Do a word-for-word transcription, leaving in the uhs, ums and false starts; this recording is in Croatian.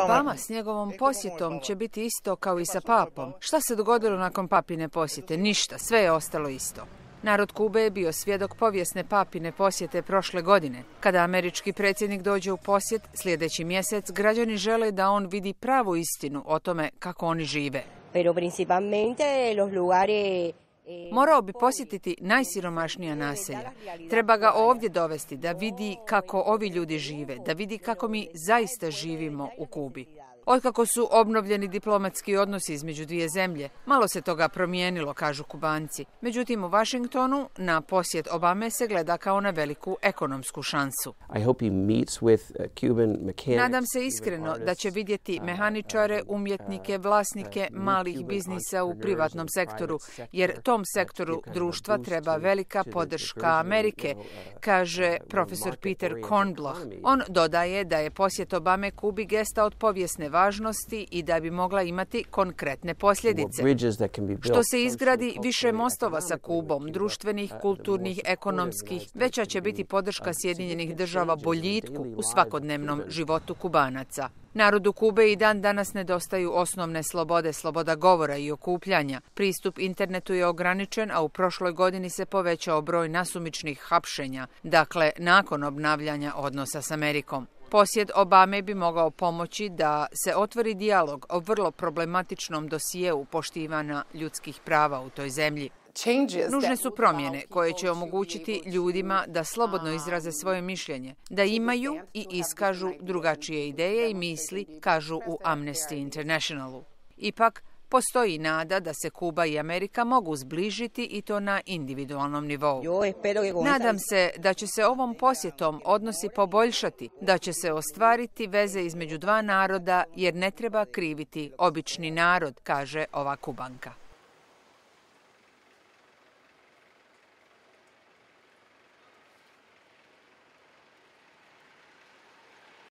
Obama s njegovom posjetom će biti isto kao i sa papom. Šta se dogodilo nakon papine posjete? Ništa, sve je ostalo isto. Narod Kube je bio svjedok povijesne papine posjete prošle godine. Kada američki predsjednik dođe u posjet sljedeći mjesec, građani žele da on vidi pravu istinu o tome kako oni žive. Morao bi posjetiti najsiromašnija naselja. Treba ga ovdje dovesti da vidi kako ovi ljudi žive, da vidi kako mi zaista živimo u Kubi. Otkako su obnovljeni diplomatski odnosi između dvije zemlje, malo se toga promijenilo, kažu Kubanci. Međutim, u Washingtonu na posjet Obame se gleda kao na veliku ekonomsku šansu. Nadam se iskreno da će vidjeti mehaničare, umjetnike, vlasnike malih biznisa u privatnom sektoru, jer tom sektoru društva treba velika podrška Amerike, kaže profesor Peter Kornbloh. On dodaje da je posjet Obame Kubi gesta od povijesne važnosti i da bi mogla imati konkretne posljedice. Što se izgradi više mostova sa Kubom, društvenih, kulturnih, ekonomskih, veća će biti podrška Sjedinjenih država boljitku u svakodnevnom životu Kubanaca. Narodu Kube i dan danas nedostaju osnovne slobode, sloboda govora i okupljanja. Pristup internetu je ograničen, a u prošloj godini se povećao broj nasumičnih hapšenja, dakle nakon obnavljanja odnosa s Amerikom. Posjet Obame bi mogao pomoći da se otvori dijalog o vrlo problematičnom dosijeu poštivanja ljudskih prava u toj zemlji. Nužne su promjene koje će omogućiti ljudima da slobodno izraze svoje mišljenje, da imaju i iskažu drugačije ideje i misli, kažu u Amnesty Internationalu. Ipak, postoji nada da se Kuba i Amerika mogu zbližiti i to na individualnom nivou. Nadam se da će se ovom posjetom odnosi poboljšati, da će se ostvariti veze između dva naroda jer ne treba kriviti obični narod, kaže ova Kubanka.